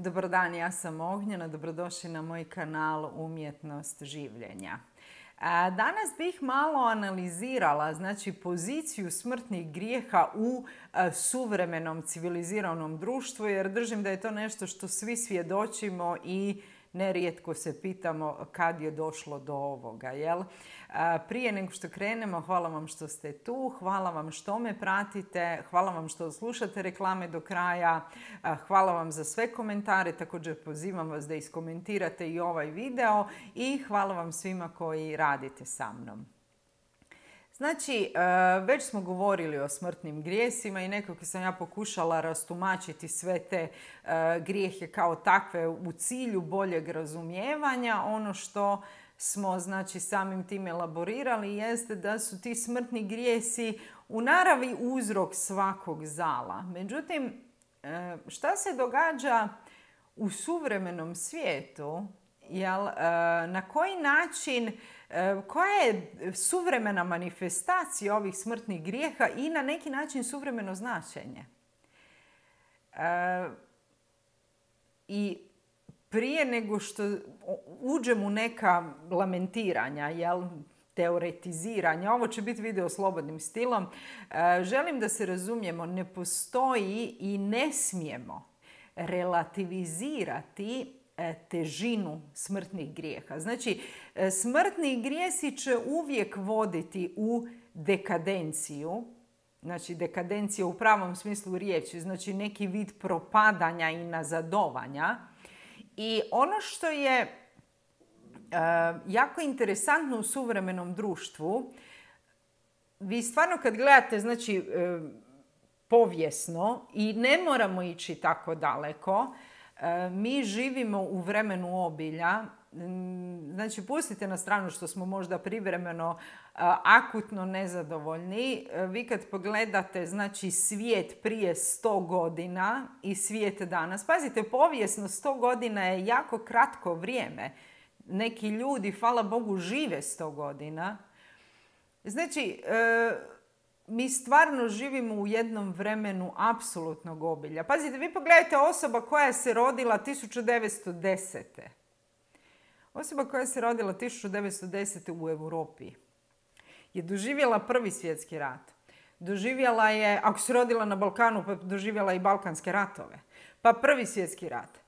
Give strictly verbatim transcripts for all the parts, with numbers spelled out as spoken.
Dobar dan, ja sam Ognjena, dobrodošli na moj kanal Umjetnost življenja. Danas bih malo analizirala znači, poziciju smrtnih grijeha u suvremenom civiliziranom društvu, jer držim da je to nešto što svi svjedočimo i nerijetko se pitamo kad je došlo do ovoga. Jel? Prije nego što krenemo, hvala vam što ste tu, hvala vam što me pratite, hvala vam što slušate reklame do kraja, hvala vam za sve komentare, također pozivam vas da iskomentirate i ovaj video i hvala vam svima koji radite sa mnom. Znači, već smo govorili o smrtnim grijesima i nekako sam ja pokušala rastumačiti sve te grijehe kao takve u cilju boljeg razumijevanja. Ono što smo znači, samim tim elaborirali jeste da su ti smrtni grijesi u naravi uzrok svakog zala. Međutim, šta se događa u suvremenom svijetu? Jel, na koji način, koja je suvremena manifestacija ovih smrtnih grijeha i na neki način suvremeno značenje? I prije nego što uđem u neka lamentiranja, jel, teoretiziranja, ovo će biti video slobodnim stilom, želim da se razumijemo, ne postoji i ne smijemo relativizirati težinu smrtnih grijeha. Znači, smrtni grijesi će uvijek voditi u dekadenciju, znači dekadencija u pravom smislu riječi, znači neki vid propadanja i nazadovanja. I ono što je uh, jako interesantno u suvremenom društvu, vi stvarno kad gledate, znači, uh, povijesno, i ne moramo ići tako daleko, mi živimo u vremenu obilja. Znači, pustite na stranu što smo možda privremeno akutno nezadovoljni. Vi kad pogledate znači, svijet prije sto godina i svijet danas, pazite, povijesno sto godina je jako kratko vrijeme. Neki ljudi, hvala Bogu, žive sto godina. Znači, mi stvarno živimo u jednom vremenu apsolutnog obilja. Pazite, vi pogledajte osoba koja se rodila tisuću devetsto desete. Osoba koja se rodila tisuću devetsto desete u Europi je doživjela Prvi svjetski rat. Doživjela je, ako se rodila na Balkanu, pa doživjela i Balkanske ratove. Pa Prvi svjetski rat.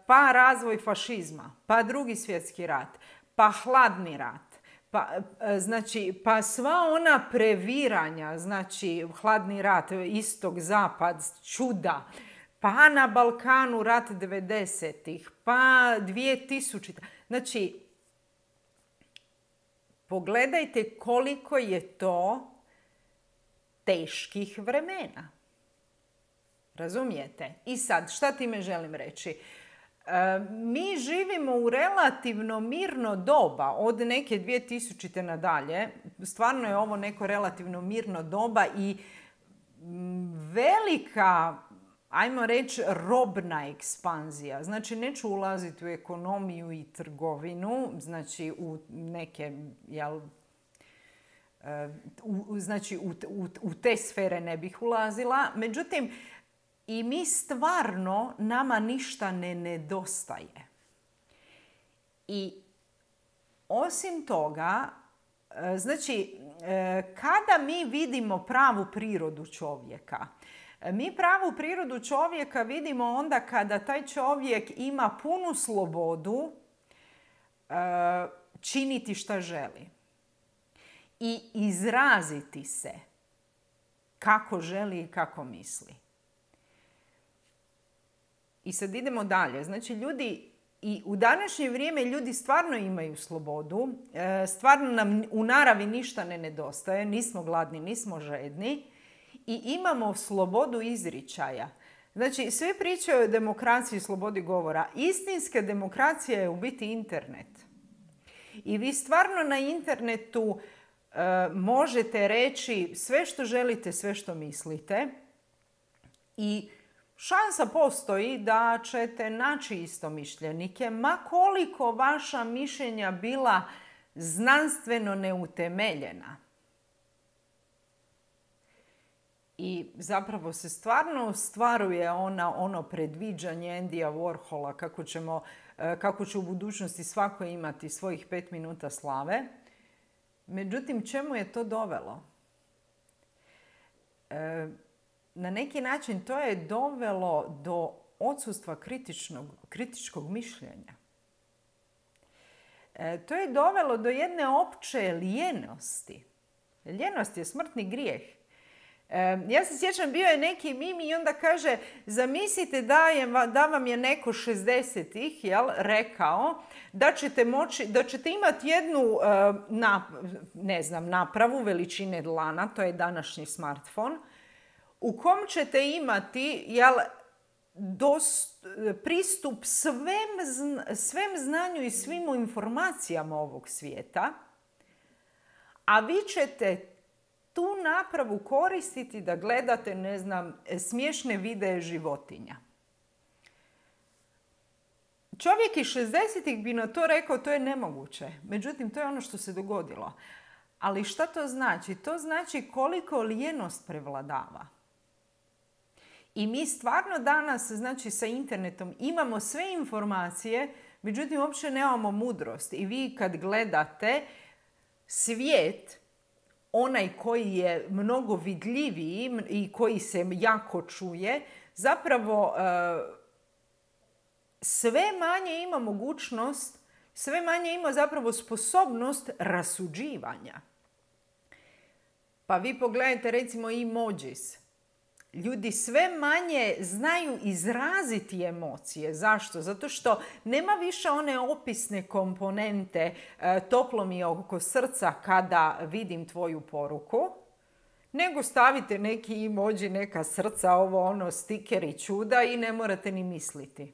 Pa razvoj fašizma. Pa Drugi svjetski rat. Pa hladni rat. Pa, znači, pa sva ona previranja, znači hladni rat, istok, zapad, čuda, pa na Balkanu rat devedesetih, pa dvije tisućite. Znači, pogledajte koliko je to teških vremena. Razumijete? I sad, šta time želim reći? Mi živimo u relativno mirno doba od neke dvije tisućite nadalje. Stvarno je ovo neko relativno mirno doba i velika, ajmo reći, robna ekspanzija. Znači, neću ulaziti u ekonomiju i trgovinu, znači u neke, jel, u, znači u, u, u te sfere ne bih ulazila. Međutim, i mi stvarno, nama ništa ne nedostaje. I osim toga, znači, kada mi vidimo pravu prirodu čovjeka, mi pravu prirodu čovjeka vidimo onda kada taj čovjek ima punu slobodu činiti šta želi i izraziti se kako želi i kako misli. I sad idemo dalje. Znači, ljudi, i u današnje vrijeme ljudi stvarno imaju slobodu, stvarno nam u naravi ništa ne nedostaje, nismo gladni, nismo žedni i imamo slobodu izričaja. Znači, svi pričaju o demokraciji i slobodi govora. Istinska demokracija je u biti internet. I vi stvarno na internetu e, možete reći sve što želite, sve što mislite i šansa postoji da ćete naći istomišljenike, ma koliko vaša mišljenja bila znanstveno neutemeljena. I zapravo se stvarno ostvaruje ona, ono predviđanje Andyja Warhola kako, ćemo, kako će u budućnosti svako imati svojih pet minuta slave. Međutim, čemu je to dovelo? E, na neki način to je dovelo do odsustva kritičkog mišljenja. E, to je dovelo do jedne opće lijenosti. Ljenost je smrtni grijeh. E, ja se sjećam, bio je neki mimi i onda kaže, zamislite da, je, da vam je neko šezdesetih jel, rekao da ćete, moći, da ćete imati jednu e, na, ne znam, napravu veličine dlana, to je današnji smartfon, u kom ćete imati jel, dost, pristup svem, svem znanju i svim informacijama ovog svijeta, a vi ćete tu napravu koristiti da gledate, ne znam, smiješne videe životinja. Čovjek iz šezdesetih bi na to rekao, to je nemoguće. Međutim, to je ono što se dogodilo. Ali šta to znači? To znači koliko lijenost prevladava. I mi stvarno danas, znači sa internetom, imamo sve informacije, međutim, uopće nemamo mudrost. I vi kad gledate svijet, onaj koji je mnogo vidljiviji i koji se jako čuje, zapravo sve manje ima mogućnost, sve manje ima zapravo sposobnost rasuđivanja. Pa vi pogledajte recimo emojis. Ljudi sve manje znaju izraziti emocije. Zašto? Zato što nema više one opisne komponente e, toplo mi je oko srca kada vidim tvoju poruku, nego stavite neki emoji, neka srca, ovo ono, stikeri čuda i ne morate ni misliti.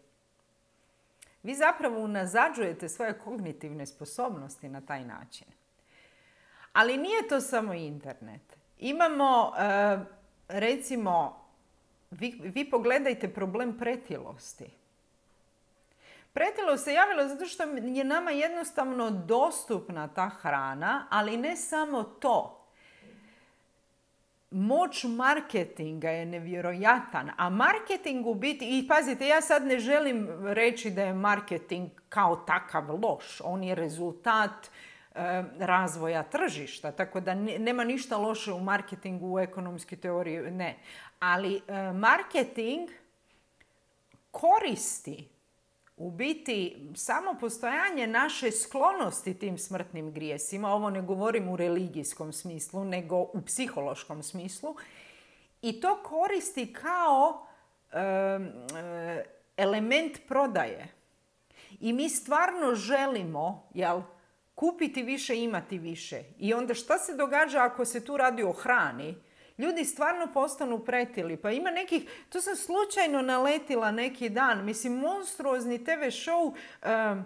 Vi zapravo unazađujete svoje kognitivne sposobnosti na taj način. Ali nije to samo internet. Imamo... E, Recimo, vi, vi pogledajte problem pretilosti. Pretilost se javila zato što je nama jednostavno dostupna ta hrana, ali ne samo to. Moć marketinga je nevjerojatan, a marketing u biti, i pazite, ja sad ne želim reći da je marketing kao takav loš, on je rezultat razvoja tržišta, tako da nema ništa loše u marketingu, u ekonomskoj teoriji, ne. Ali marketing koristi u biti samo postojanje naše sklonosti tim smrtnim grijesima, ovo ne govorim u religijskom smislu, nego u psihološkom smislu, i to koristi kao um, element prodaje. I mi stvarno želimo, jel, kupiti više, imati više. I onda šta se događa ako se tu radi o hrani? Ljudi stvarno postanu pretili. Pa ima nekih, to sam slučajno naletila neki dan, mislim, monstruozni te ve show uh,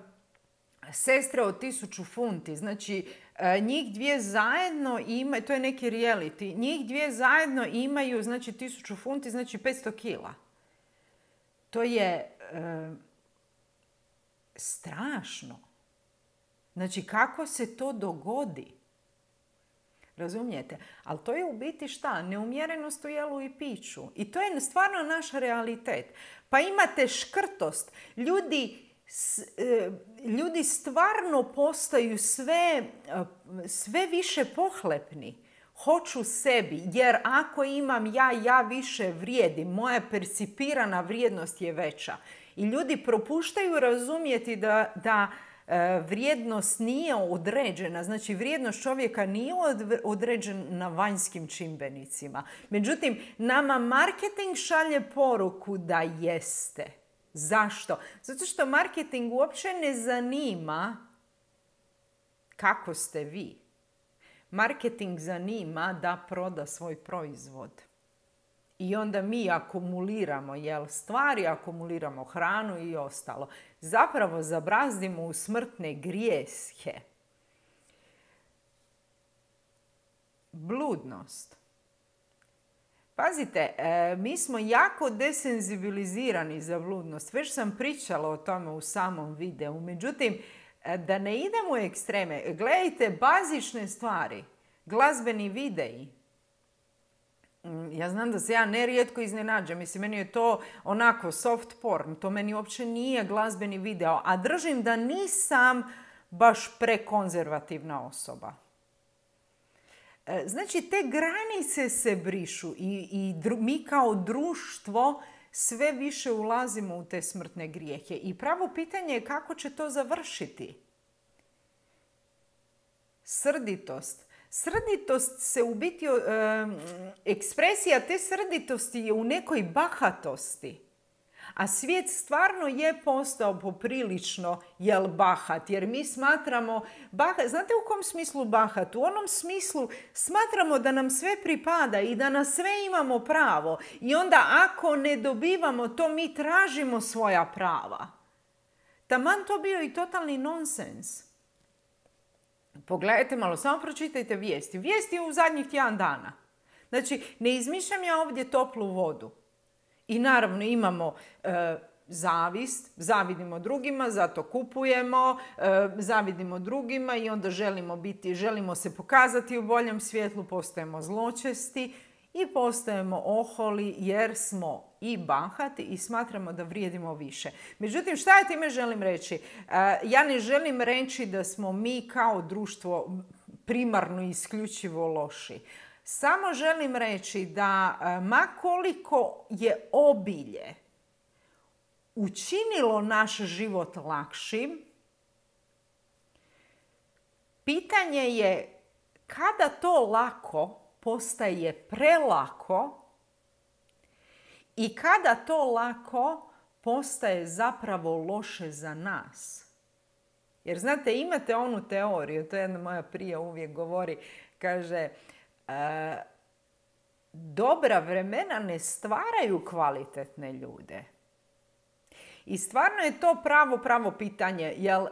Sestre od tisuću funti. Znači, uh, njih dvije zajedno imaju, to je neki reality, njih dvije zajedno imaju, znači, tisuću funti, znači petsto kila. To je uh, strašno. Znači, kako se to dogodi? Razumijete? Ali to je u biti šta? Neumjerenost u jelu i piću. I to je stvarno naš realitet. Pa imate škrtost. Ljudi, ljudi stvarno postaju sve, sve više pohlepni. Hoću sebi, jer ako imam ja, ja više vrijedim. Moja percipirana vrijednost je veća. I ljudi propuštaju razumjeti da... da vrijednost nije određena, znači vrijednost čovjeka nije određena vanjskim čimbenicima. Međutim, nama marketing šalje poruku da jeste. Zašto? Zato što marketing uopće ne zanima kako ste vi. Marketing zanima da proda svoj proizvod. I onda mi akumuliramo jel, stvari, akumuliramo hranu i ostalo. Zapravo zabrazdimo u smrtne grijehe. Bludnost. Pazite, e, mi smo jako desenzibilizirani za bludnost. Već sam pričala o tome u samom videu. Međutim, da ne idemo u ekstreme, gledajte bazične stvari. Glazbeni videi. Ja znam da se ja nerijetko iznenađam. Mislim, meni je to onako soft porn. To meni uopće nije glazbeni video. A držim da nisam baš prekonzervativna osoba. Znači, te granice se brišu i, i dru, mi kao društvo sve više ulazimo u te smrtne grijehe. I pravo pitanje je kako će to završiti. Srditost. Srditost se u biti, e, ekspresija te srditosti je u nekoj bahatosti. A svijet stvarno je postao poprilično jel bahat, jer mi smatramo, bahat, znate u kom smislu bahat? U onom smislu smatramo da nam sve pripada i da na sve imamo pravo. I onda ako ne dobivamo to, mi tražimo svoja prava. Taman to bio i totalni nonsens. Pogledajte malo, samo pročitajte vijesti. Vijesti u zadnjih tjedan dana. Znači, ne izmišljam ja ovdje toplu vodu. I naravno imamo e, zavist, zavidimo drugima, zato kupujemo, e, zavidimo drugima i onda želimo biti, želimo se pokazati u boljem svjetlu, postajemo zločesti i postajemo oholi jer smo i bahati i smatramo da vrijedimo više. Međutim, šta ja time želim reći? E, ja ne želim reći da smo mi kao društvo primarno i isključivo loši. Samo želim reći da ma koliko je obilje učinilo naš život lakšim, pitanje je kada to lako postaje prelako i kada to lako postaje zapravo loše za nas. Jer znate, imate onu teoriju, to je jedna moja prija uvijek govori, kaže, E, dobra vremena ne stvaraju kvalitetne ljude. I stvarno je to pravo, pravo pitanje, jel, e,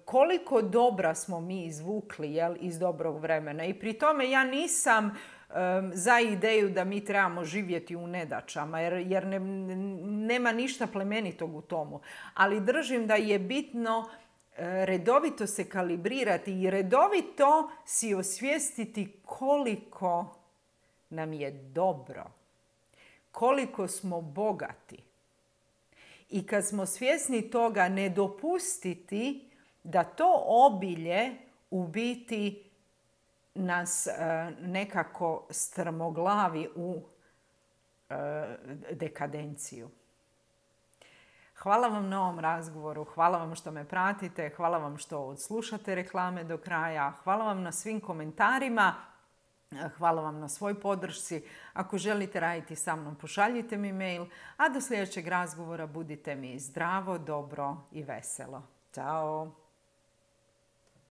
koliko dobra smo mi izvukli jel, iz dobrog vremena. I pri tome ja nisam e, za ideju da mi trebamo živjeti u nedaćama, jer, jer ne, nema ništa plemenitog u tomu. Ali držim da je bitno redovito se kalibrirati i redovito si osvijestiti koliko nam je dobro, koliko smo bogati. I kad smo svjesni toga, ne dopustiti da to obilje u biti nas nekako strmoglavi u dekadenciju. Hvala vam na ovom razgovoru, hvala vam što me pratite, hvala vam što odslušate reklame do kraja, hvala vam na svim komentarima, hvala vam na svoj podršci. Ako želite raditi sa mnom, pošaljite mi mail, a do sljedećeg razgovora budite mi zdravo, dobro i veselo. Ćao!